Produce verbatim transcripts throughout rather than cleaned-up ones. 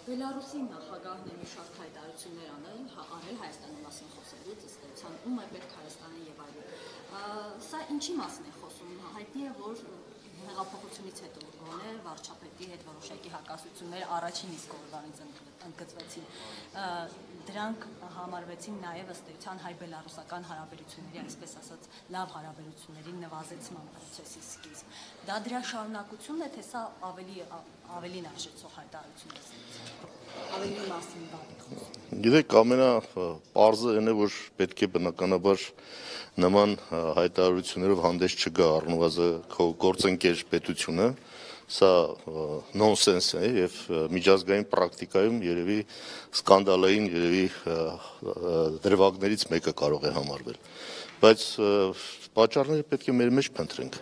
Բելարուսի նախագահն է մի շարք հայտարարություններ անել, արել Հայաստանի մասին խոսելուց, ըստ էության, ում է պետք Հայաստանը եւ այլն։ Սա ինչի մասին է խոսում։ Հայտնի է, որ հեղափոխությունից հետո գոնե վարչապետի հետ որոշակի հակասություններ առաջին իսկ օրվանից ընդգծվեցին։ Դրանք համարվեցին նաև ըստ էության հայ-բելարուսական հարաբերությունների, այսպես ասած, լավ հարաբերությունների նվազեցման process-ի սկիզբ։ Դա դրա շարունակությունն է, թե սա ավելի ավելին արժեցող հայտարարություն է։ Ավելի մասին բանի։ Գիտեք, ամենապարզը այն է, որ պետք է բնականաբար նման հայտարարություններով հանդես չգա առնվազն քո գործընկեր պետությունը, սա նոնսենս է եւ միջազգային պրակտիկայում երևի սկանդալային երևի դրվագներից մեկը կարող է համարվել, բայց պատճառները պետք է մեր մեջ փնտրենք։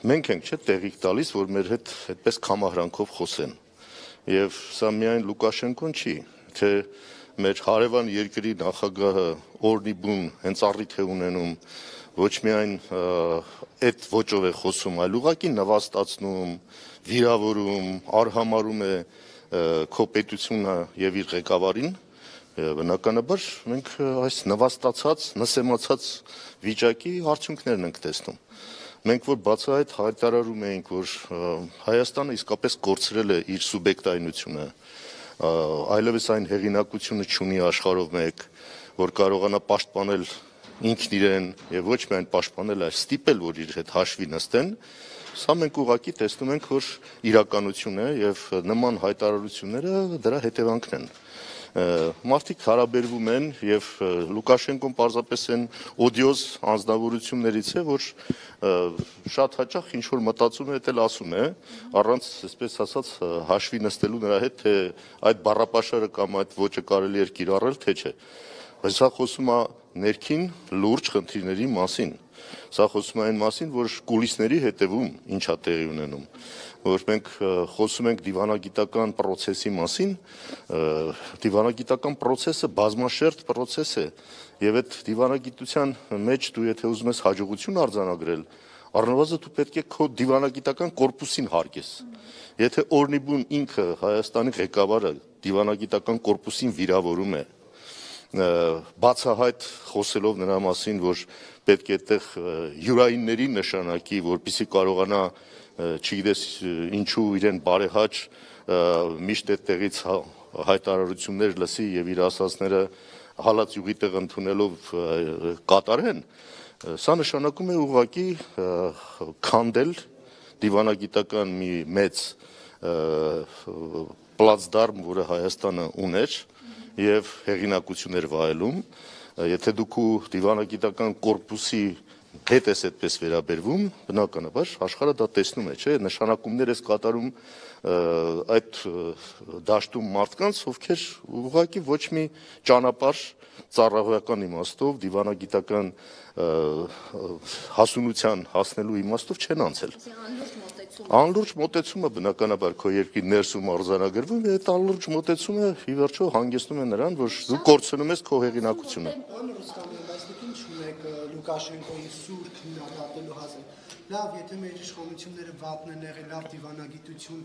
Մենք ենք չէ տեղիք տալիս, որ մեր հետ այդպես կամահրանքով խոսեն։ Եվ սա միայն Լուկաշենկոն չի, թե մեր հարևան երկրի նախագահը օրնի բուն հենց առիթ է ունենում ոչ միայն այդ ոճով է խոսում, այլ ուղղակի նվաստացնում, վիրավորում, արհամարում է քո պետությունը եւ իր ղեկավարին, բնականաբար մենք այս նվաստացած, նսեմացած վիճակի արդյունքներն ենք տեսնում։ Մենք որ բացահայտ հայտարարում էինք, որ Հայաստանը իսկապես կորցրել է իր սուբյեկտայնությունը, այլևս այն հեղինակությունը չունի աշխարհով մեկ, որ կարողանա պաշտպանել ինքն իրեն եւ ոչ միայն պաշտպանել, այլ ստիպել, որ իր հետ հաշվի նստեն, սա մենք ուղղակի տեսնում ենք, որ իրականություն է եւ նման հայտարարությունները դրա հետևանքն են։ Մարդիկ հարաբերվում են եւ Լուկաշենկոն պարզապես այն օդիոզ անձնավորություններից է, որ շատ հաճախ ինչ որ մտածում է, էլ ասում է, առանց, այսպես ասած, հաշվի նստելու նրա հետ, թե այդ բառապաշարը կամ այդ ոճը կարելի է կիրառել, թե չէ։ Բայց սա խոսում է ներքին լուրջ խնդիրների մասին։ Սա խոսում է այն մասին, որ կուլիսների հետևում ինչա տեղի ունենում, որ մենք խոսում ենք դիվանագիտական process-ի մասին, դիվանագիտական process-ը բազմաշերտ process է, եւ այդ դիվանագիտության մեջ դու եթե ուզում ես հաջողություն արձանագրել, առնվազն դու պետք է քո դիվանագիտական կորպուսին հարգես։ Եթե օրնիբուն ինքը Հայաստանի ղեկավարը դիվանագիտական կորպուսին վիրավորում է, բացահայտ խոսելով նրա մասին, որ պետք է այդտեղ յուրայինների նշանակի, որպեսզի կարողանա, չգիտես ինչու իրեն բարեհաճ միշտ այդտեղից հայտարարություններ լսի եւ իր ասածները հալած յուղի տեղ ընդունելով կատարեն, սա նշանակում է ուղղակի քանդել դիվանագիտական մի մեծ պլացդարմ, որը Հայաստանը ուներ եւ հեղինակություններ վայելում, եթե դուք դիվանագիտական կորպուսի հետ ես այդպես վերաբերվում, բնականաբար աշխարհը դա տեսնում է, չէ՞, նշանակումներ ես կատարում այդ դաշտում մարդկանց, ովքեր ուղղակի ոչ մի ճանապարհ ծառայողական իմաստով, դիվանագիտական հասունության հասնելու իմաստով չեն անցել։ Անլուրջ մոտեցումը բնականաբար քո երկրի ներսում արձանագրվում է, այդ անլուրջ մոտեցումը ի վերջո հանգեցնում է նրան, որ դու կորցնում ես քո հեղինակությունը։ Լուկաշենկոյի սուր քննադատելու հասել։ Լավ, եթե մեր իշխանությունները վատն են եղել, լավ դիվանագիտություն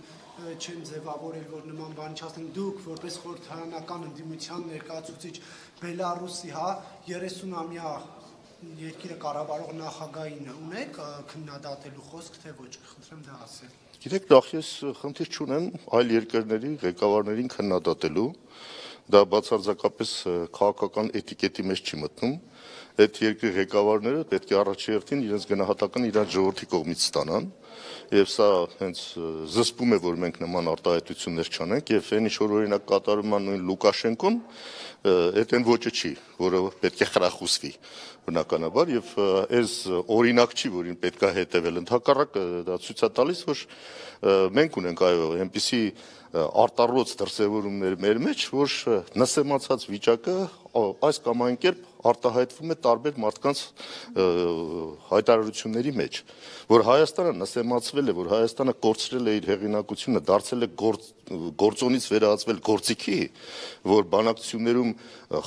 չեն ձևավորել, որ նման բան չասեն, դուք որպես խորհրդարանական ընդդիմության ներկայացուցիչ Բելարուսի, հա, երեսունամյա երկիրը կառավարող նախագահին ունեք քննադատելու խոսք, թե ոչ, խնդրեմ դա ասել։ Գիտեք, նախ ես խնդիր չունեմ այլ երկրների ղեկավարներին քննադատելու, դա բացարձակապես քաղաքական էտիկետի մեջ չի մտնում։ Այդ երկրի ղեկավարները պետք է առաջերտին իրենց գնահատական իրենց ժողովրդի կողմից ստանան, եւ սա հենց զսպում է, որ մենք նման արտահայտություններ չանենք, եւ այն ինչ որ օրինակ կատարում է նույն Լուկաշենկոն, այդ այն ոճը չի, որը պետք է խրախուսվի բնականաբար, եւ այս օրինակ չի, որին պետք է հետևել, ընդհակառակը դա ցույց է տալիս, որ մենք ունենք այո այնպիսի արտառոց դրսևորումներ մեր մեջ, որ նսեմացած վիճակը այս կամ այն կերպ արտահայտվում է տարբեր մարդկանց հայտարարությունների մեջ, որ Հայաստանը նսեմացվել է, որ Հայաստանը կորցրել է իր հեղինակությունը, դարձել է գործոնից վերածվել գործիքի, որ բանակցություններում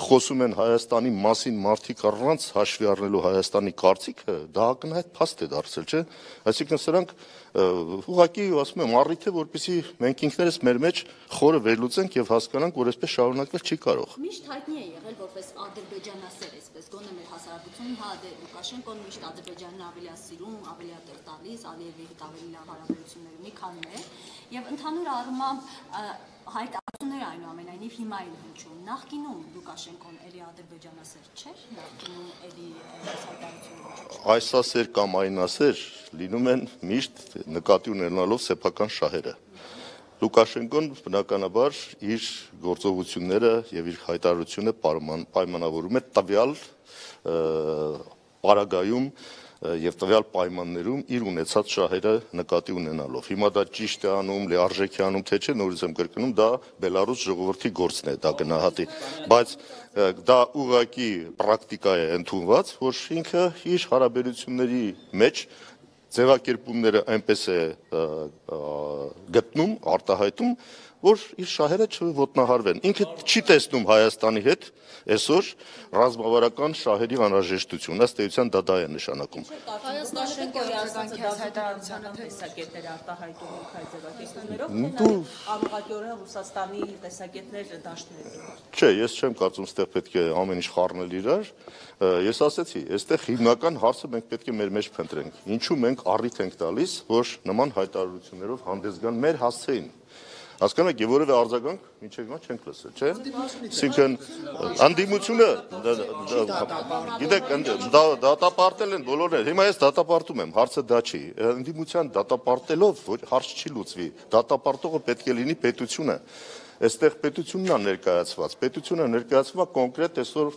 խոսում են Հայաստանի մասին մարդիկ առանց հաշվի առնելու Հայաստանի կարծիքը, դա ակնհայտ փաստ է դարձել, չէ՞։ Այսինքն սրանք ուղղակի ասում եմ առիթ է, որպեսզի մենք ինքներս մեր մեջ խորը վերլուծենք եւ հասկանանք, որ այսպես շարունակվել չի կարող։ Միշտ հայտնի է եղել որպես ադրբեջանասեր, այսպես գոնե մեր հասարակությունում, հա դե Լուկաշենկոն միշտ Ադրբեջանն ավելի է սիրում, ավելի է տեղ տալիս, Ալիևի հետ ավելի լավ հարաբերություններ ունի, քան մեր, եւ ընդհանուր առմամբ հայտարարությունները այնուամենայնիվ հիմա են հնչում։ Նախկինում Լուկաշենկոն էլի ադրբեջանասեր չէր, նախկինում էլի հայտարարություններ։ Այսասեր կամ այնասեր լինում են միշտ նկատի ունենալով սեփական շահերը։ Լուկաշենկոն բնականաբար իր գործողությունները եւ իր հայտարարությունը պայմանավորում է տվյալ պարագայում եւ տվյալ պայմաններում իր ունեցած շահերը նկատի ունենալով։ Հիմա դա ճիշտ է անում, լիարժեք է անում, թե չէ, նորից եմ կրկնում, դա Բելարուս ժողովրդի գործն է, դա գնահատի, բայց դա ուղղակի պրակտիկա է ընդունված, որ ինքը իր հարաբերությունների մեջ ձևակերպումները այնպես է գտնում, արտահայտում, որ իր շահերը չոտնահարվեն։ Ինքը չի տեսնում Հայաստանի հետ այսօր ռազմավարական շահերի անհրաժեշտություն, ըստ էության դա դա է նշանակում։ Լուկաշենկոյի ասածը հայտարարության տեսակետներ արտահայտում եք այդ ձևակերպումներով, անուղղակիորեն Ռուսաստանի տեսակետներ դաշտներում։ Չէ, ես չեմ կարծում, այստեղ պետք է ամեն ինչ խառնել իրար։ Ես ասացի, այստեղ հիմնական հարցը մենք պետք է մեր մեջ փնտրենք։ Ինչու մենք առիթ ենք տալիս, որ նման հայտարարություններով հանդես գան մեր հասցեին։ Հասկանում եք, որևէ արձագանք մինչև հիմա չենք լսել, չէ՞։ Այսինքն անդիմությունը, գիտեք, դատապարտել են բոլորները։ Հիմա ես դատապարտում եմ, հարցը դա չի։ Անդիմության դատապարտելով հարց չի լուծվի։ Դատապարտողը պետք է լինի պետությունը։ Այստեղ պետությունն է ներկայացված, պետությունը ներկայացվում է կոնկրետ այսօր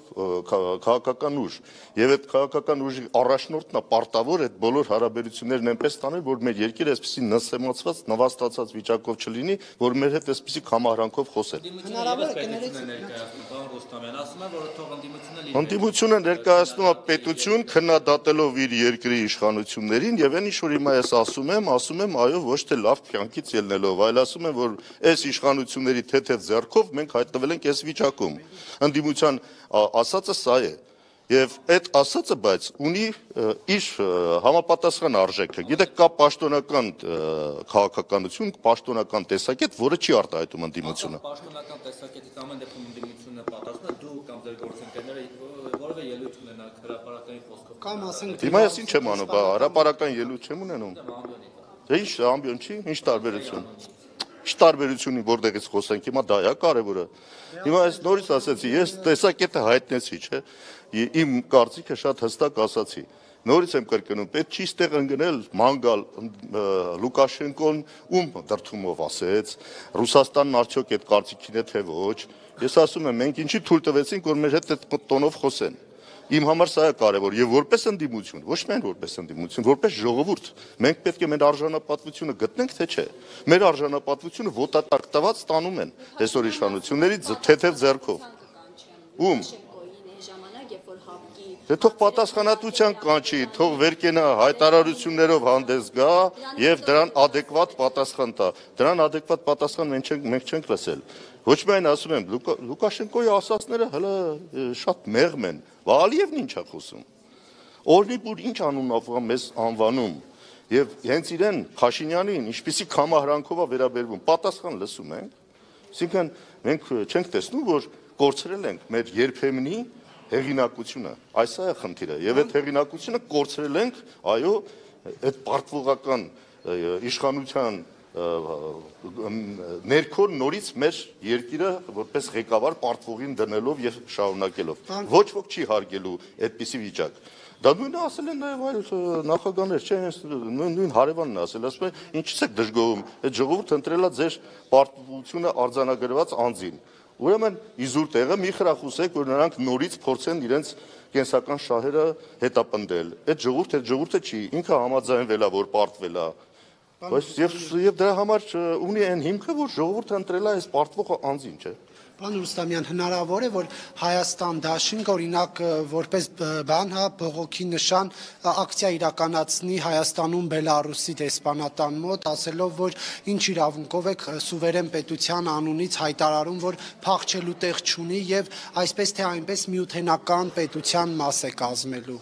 քաղաքական ուժ, եւ այդ քաղաքական ուժի առաջնորդն է պարտավոր այդ բոլոր հարաբերություններն այնպես տանել, որ մեր երկիրը այսպեսի նսեմացված, նվաստացած վիճակով չլինի, որ մեր հետ այսպեսի համահրանքով խոսեն։ Հնարավոր է կներեք Ընդդիմությունը ներկայացնում է պետություն, քննադատելով իր երկրի իշխանություններին, եւ այն ինչ որ հիմա ես ասում եմ, ասում եմ, այո, ոչ թե լավ կյանքից ելնելով, այլ ասում եմ, որ այս իշխանությունների թեթև ձեռքով մենք հայտնվել ենք այս վիճակում։ Ընդդիմության ասածը սա է։ Եվ այդ ասածը բայց ունի իր համապատասխան արժեքը։ Գիտեք, կա պաշտոնական քաղաքականություն, պաշտոնական տեսակետ, որը չի արտահայտում ընդդիմությունը։ Պաշտոնական տեսակետից ամեն դեպքում ընդդիմությունը պատասխան է, դու կամ ձեր գործընկերները որևէ ելույթ ունենաք հրապարակային խոսքով։ Կամ ասենք Հիմա ես ինչ եմ անում, հրապարակային ելույթ չեմ ունենում։ Դե ինչ ամբիոն չի, ինչ տարբերություն։ Ինչ տարբերությունի որտեղից խոսենք, հիմա դա է կարևորը։ Հիմա ես նորից ասացի, ես տեսակետը հայտնեցի, չէ՞։ Իմ կարծիքը շատ հստակ ասացի։ Նորից եմ կրկնում, պետք չի ստեղ ընկնել մանգալ Լուկաշենկոն ում դրդումով ասեց, Ռուսաստանն արդյոք այդ կարծիքին է թե ոչ։ Ես ասում եմ, մենք ինչի թույլ տվեցինք, որ մեր հետ այդ տոնով խոսեն։ Իմ համար սա է կարևոր եւ որպես ընդդիմություն, ոչ միայն որպես ընդդիմություն, որպես ժողովուրդ, մենք պետք է մեր արժանապատվությունը գտնենք, թե չէ։ Մեր արժանապատվությունը ոտատակտված ստանում են այսօր իշխանությունների թեթև ձեռքով։ Ում Դե թող պատասխանատվության կանչի, թող վերկենա հայտարարություններով հանդես գա եւ դրան adekvat պատասխան տա։ Դրան adekvat պատասխան մենք չենք մենք չենք լսել։ Ոչ միայն ասում եմ, Լուկաշենկոյի ասածները հələ շատ մեղմ են։ Ալիևն ինչ է խոսում։ Օրնիպուր ինչ անունով է մեզ անվանում եւ հենց իրեն Փաշինյանին ինչպիսի կամահրանքով է վերաբերվում։ Պատասխան լսում ենք։ Այսինքն մենք չենք տեսնում, որ կորցրել ենք մեր երբեմնի հեղինակությունը, այս է խնդիրը, եւ այդ հեղինակությունը կորցրել ենք, այո, այդ պարտվողական իշխանության ներքո նորից մեր երկիրը որպես ղեկավար պարտվողին դնելով եւ շարունակելով։ Ոչ ոք չի հարգելու այդպիսի վիճակ։ Դա նույնը ասել են նաեւ այլ նախագահներ, չէ, նույն հարևանն ասել, ասում է, ինչից եք դժգոհում, այդ ժողովուրդը ընտրել է ձեր պարտվությունը արձանագրված անձին։ Ուրեմն իզուր տեղը մի խրախուսեք, որ նրանք նորից փորձեն իրենց կենսական շահերը հետապնդել։ Այդ ժողովուրդը, այդ ժողովուրդը չի, ինքը համաձայնվել է, որ պարտվել է։ Բայց եւ եւ դրա համար ունի այն հիմքը, որ ժողովուրդը ընտրել է այս պարտվող անձին, չէ։ Պարոն Ռուստամյան, հնարավոր է, որ Հայաստան դաշինք օրինակ որպես բան, հա, բողոքի նշան ակցիա իրականացնի Հայաստանում Բելարուսի դեսպանատան մոտ, ասելով, որ ինչ իրավունքով եք սուվերեն պետության անունից հայտարարում, որ փախչելու տեղ չունի եւ այսպես թե այնպես միութենական պետության մաս է կազմելու։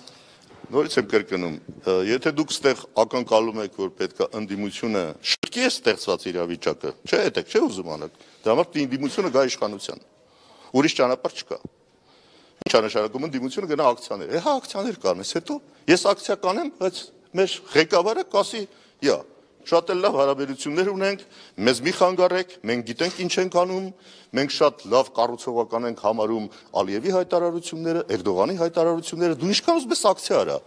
Նորից եմ կրկնում, եթե դուք ստեղ ակնկալում եք, որ պետքա ընդդիմությունը շտկի է ստեղծված իրավիճակը, չէ, այդեք չէ ուզում անեք, դրա համար ընդդիմությունը գա իշխանության, ուրիշ ճանապարհ չկա։ Ինչ է նշանակում ընդդիմությունը գնա ակցիաներ, հա ակցիաներ կանես, հետո ես ակցիա կանեմ, բայց մեր ղեկավարը կասի, յա, շատ էլ լավ հարաբերություններ ունենք, մեզ մի խանգարեք, մենք գիտենք ինչ ենք անում, մենք շատ լավ կառուցողական ենք համարում Ալիևի հայտարարությունները, Էրդողանի հայտարարությունները, դու ինչքան ուզում ես ակցիա արա։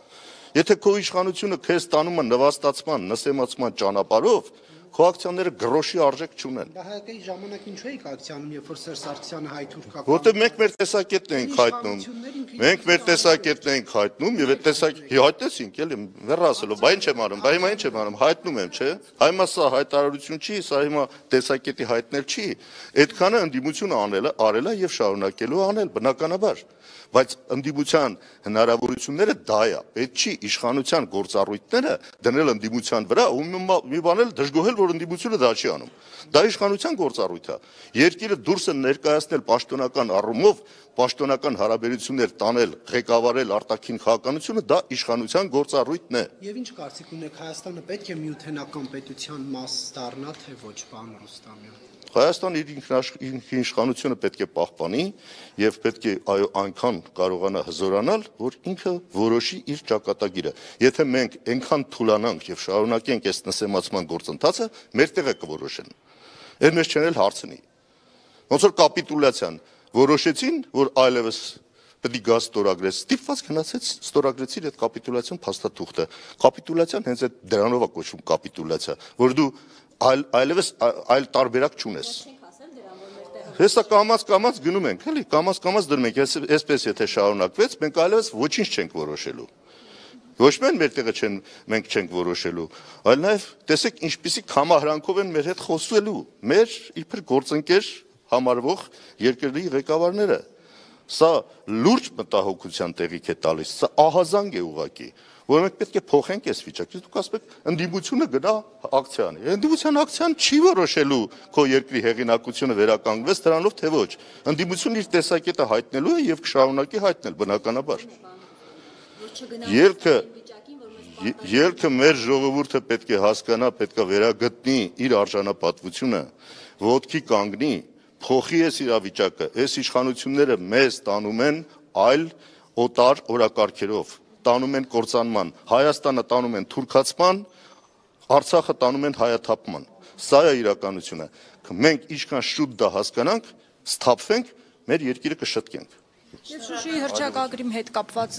Եթե քո իշխանությունը քեզ տանում է նվաստացման, նսեմացման ճանապարհով, քո ակցիաները գրոշի արժեք չունեն։ Դա հայկական ժամանակ ինչու էիք ակցիանում, երբ որ Սերժ Սարգսյանը հայ-թուրքական։ Որտեղ մենք մեր տեսակետն ենք հայտնում։ Մենք մեր տեսակետն ենք հայտնում եւ այդ տեսակ հայտնեցինք, էլի, վերա ասելով, բա ինչ եմ անում, բա հիմա ինչ եմ անում, հայտնում եմ, չէ։ Հիմա սա հայտարարություն չի, սա հիմա տեսակետի հայտնել չի։ Այդքանը ընդդիմությունը անել է, արել է եւ շարունակելու անել, բնականաբար։ Բայց ընդդիմության հնարավորությունները դա է, պետք չի իշխանության գործառույթները դնել ընդդիմության վրա ու մի բան էլ դժգոհել, որ ընդդիմությունը դա չի անում։ Դա իշխանության գործառույթ է։ Երկիրը դուրս են ներկայացնել պաշտոնական առումով, պաշտոնական հարաբերություններ տանել, ղեկավարել արտաքին քաղաքականությունը, դա իշխանության գործառույթն է։ Եվ ինչ կարծիք ունեք, Հայաստանը պետք է միութենական պետության մաս դառնա, թե ոչ, պարոն Ռուստամյան։ Հայաստանը իր ինքնիշխանությունը պետք է պահպանի եւ պետք է այո այնքան կարողանա հզորանալ, որ ինքը որոշի իր ճակատագիրը։ Եթե մենք այնքան թուլանանք եւ շարունակենք այս նսեմացման գործընթացը, մեր տեղը կորոշեն։ Այդ մեզ չեն էլ հարցնի։ Ոնց որ կապիտուլյացիան որոշեցին, որ այլևս պետք է գազ ստորագրես, ստիպված գնացեց ստորագրեցիր այդ կապիտուլյացիոն փաստաթուղթը։ Կապիտուլյացիան հենց այդ դրանով է կոչվում կապիտուլյացիա, որ դու այլ այլևս այլ տարբերակ չունես։ Հեսա կամած կամած գնում ենք, էլի, կամած կամած դնում ենք, այսպես եթե շարունակվեց, մենք այլևս ոչինչ չենք որոշելու։ Ոչ միայն մեր տեղը չեն, մենք չենք որոշելու, այլ նաև տեսեք ինչպիսի կամահրանքով են մեր հետ խոսելու, մեր իբր գործընկեր համարվող երկրի ղեկավարները։ Սա լուրջ մտահոգության տեղիք է տալիս, սա ահազանգ է ուղղակի, որ մենք պետք է փոխենք այս վիճակը։ Դուք ասում եք ընդդիմությունը գնա ակցիան։ Ընդդիմության ակցիան չի որոշելու քո երկրի հեղինակությունը վերականգնվեց դրանով թե ոչ։ Ընդդիմությունը իր տեսակետը հայտնելու է եւ կշարունակի հայտնել բնականաբար։ Ելքը ելքը մեր ժողովուրդը պետք է հասկանա, պետք է վերագտնի իր արժանապատվությունը, ոտքի կանգնի, փոխի այս իրավիճակը, այս իշխանությունները մեզ տանում են այլ օտար օրակարգերով, տանում են կործանման, Հայաստանը տանում են թուրքացման, Արցախը տանում են հայաթափման։ Սա է իրականությունը։ Մենք ինչքան շուտ դա հասկանանք, սթափվենք, մեր երկիրը կշտկենք։ Եվ Շուշիի հռչակագրի հետ կապված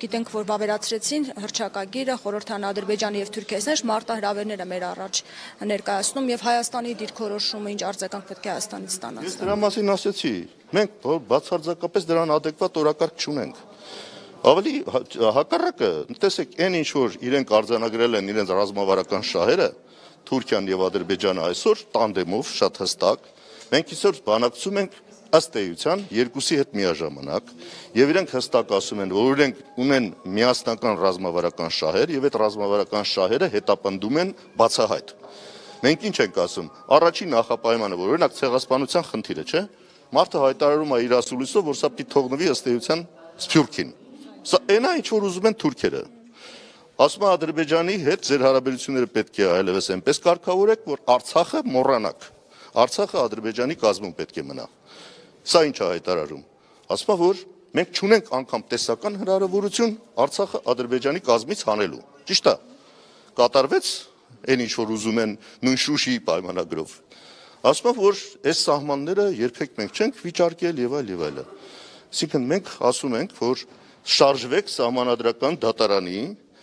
գիտենք, որ վավերացրեցին հռչակագիրը խորհրդան Ադրբեջանի եւ Թուրքիայի մարտահրավերները մեր առաջ ներկայացնում եւ Հայաստանի դիրքորոշումը ինչ արձագանք պետք է Հայաստանից ստանա։ Ես դրա մասին ասեցի, մենք բացարձակապես դրան ադեկվատ օրակարգ չունենք։ Ավելի հակառակը, տեսեք, այն ինչ որ իրենք արձանագրել են իրենց ռազմավարական շահերը, Թուրքիան եւ Ադրբեջանը այսօր տանդեմով շատ հստակ, մենք այսօր բանակցում ենք ըստ էության երկուսի հետ միաժամանակ եւ իրենք հստակ ասում են, որ իրենք ունեն միասնական ռազմավարական շահեր եւ այդ ռազմավարական շահերը հետապնդում են բացահայտ։ Մենք ինչ ենք ասում, առաջին նախապայմանը, որ օրինակ ցեղասպանության խնդիրը, չէ՞, մարդը հայտարարում է իր ասուլիսով, որ սա պիտի թողնվի ըստ էության Սփյուռքին։ Սա այնա ինչ որ ուզում են թուրքերը։ Ասում է Ադրբեջանի հետ ձեր հարաբերությունները պետք է այլևս այնպես կարգավորեք, որ Արցախը մոռանաք։ Արցախը Ադրբեջանի կազմում պետք է մնա։ Սա ինչ է հայտարարում։ Ասում է, որ մենք չունենք անգամ տեսական հնարավորություն Արցախը Ադրբեջանի կազմից հանելու։ Ճիշտ է։ Կատարվեց այն ինչ որ ուզում են նույն Շուշիի պայմանագրով։ Ասում է, որ այս սահմանները երբեք մենք չենք վիճարկել եւ այլ եւ այլը։ Այսինքն մենք ասում ենք, որ շարժվեք սահմանադրական դատարանի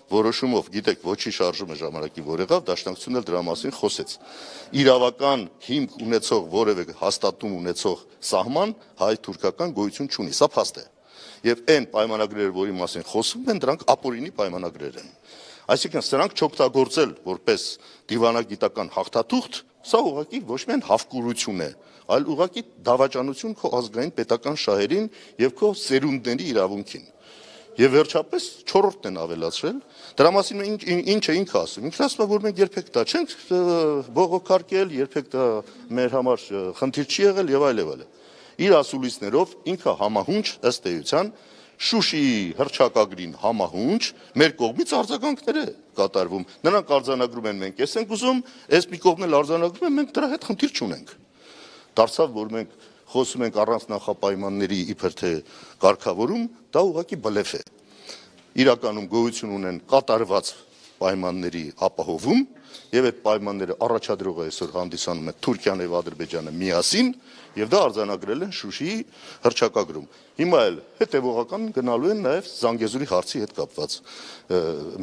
որոշումով, գիտեք, ոչի շարժումը ժամանակի որ եղավ, դաշնակցությունն էլ դրա մասին խոսեց։ Իրավական հիմք ունեցող որևէ հաստատում ունեցող սահման հայ-թուրքական գոյություն չունի, սա փաստ է։ Եվ այն պայմանագրերը, որի մասին խոսում են, դրանք ապօրինի պայմանագրեր են։ Այսինքն սրանք չօգտագործել որպես դիվանագիտական հաղթաթուղթ, սա ուղղակի ոչ միայն հավկուրություն է, այլ ուղղակի դավաճանություն քո ազգային պետական շահերին եւ քո սերունդների իրավունքին։ Եվ վերջապես չորրորդն են ավելացրել, դրա մասին ինչ ինչ է ինքը ասում։ Ինքն ասում է, որ մենք երբեք դա չենք բողոքարկել, երբեք դա մեր համար խնդիր չի եղել եւ այլ եւ այլ։ Իր ասուլիսներով ինքը համահունչ ըստ էության Շուշիի հռչակագրին համահունչ մեր կողմից արձագանքներ է կատարվում։ Նրանք արձանագրում են, մենք էս ենք ուզում, այս մի կողմն էլ արձանագրում են, մենք դրա հետ խնդիր չունենք։ Դարձավ, որ մենք խոսում ենք առանց նախապայմանների իբր թե կարգավորում, դա ուղղակի բլեֆ է։ Իրականում գոյություն ունեն կատարված պայմանների ապահովում, եւ այդ պայմանները առաջադրողը այսօր հանդիսանում է Թուրքիան եւ Ադրբեջանը միասին, եւ դա արձանագրել են Շուշիի հռչակագրում։ Հիմա էլ հետեւողական գնալու են նաեւ Զանգեզուրի հարցի հետ կապված,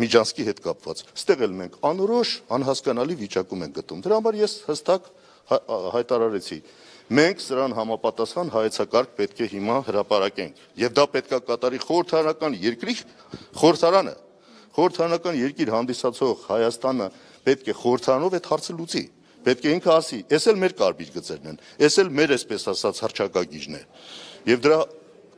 Միջանսկի հետ կապված։ Ստեղ էլ մենք անորոշ, անհասկանալի վիճակում ենք գտնում։ Դրա համար ես հստակ հայտարարեցի. մենք սրան համապատասխան հայեցակարգ պետք է հիմա հրապարակենք, եւ դա պետք է կատարի խորհրդարանական երկրի խորհրդարանը, խորհրդարանական երկիր հանդիսացող Հայաստանը պետք է խորհրդարանով այդ հարցը լուծի, պետք է ինքը ասի, էս էլ մեր կարմիր գծերն են, էս էլ մեր այսպես ասած հռչակագիժն է, եւ դրա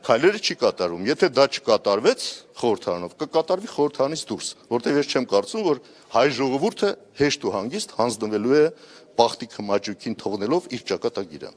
քայլերը չի կատարում, եթե դա չկատարվեց խորհրդարանով, կկատարվի խորհրդարանից դուրս, որտեղ ես չեմ կարծում, որ հայ ժողովուրդը հեշտ ու հանգիստ հանձնվելու է բախտի քմաճուկին թողնելով իր ճակատագիրը։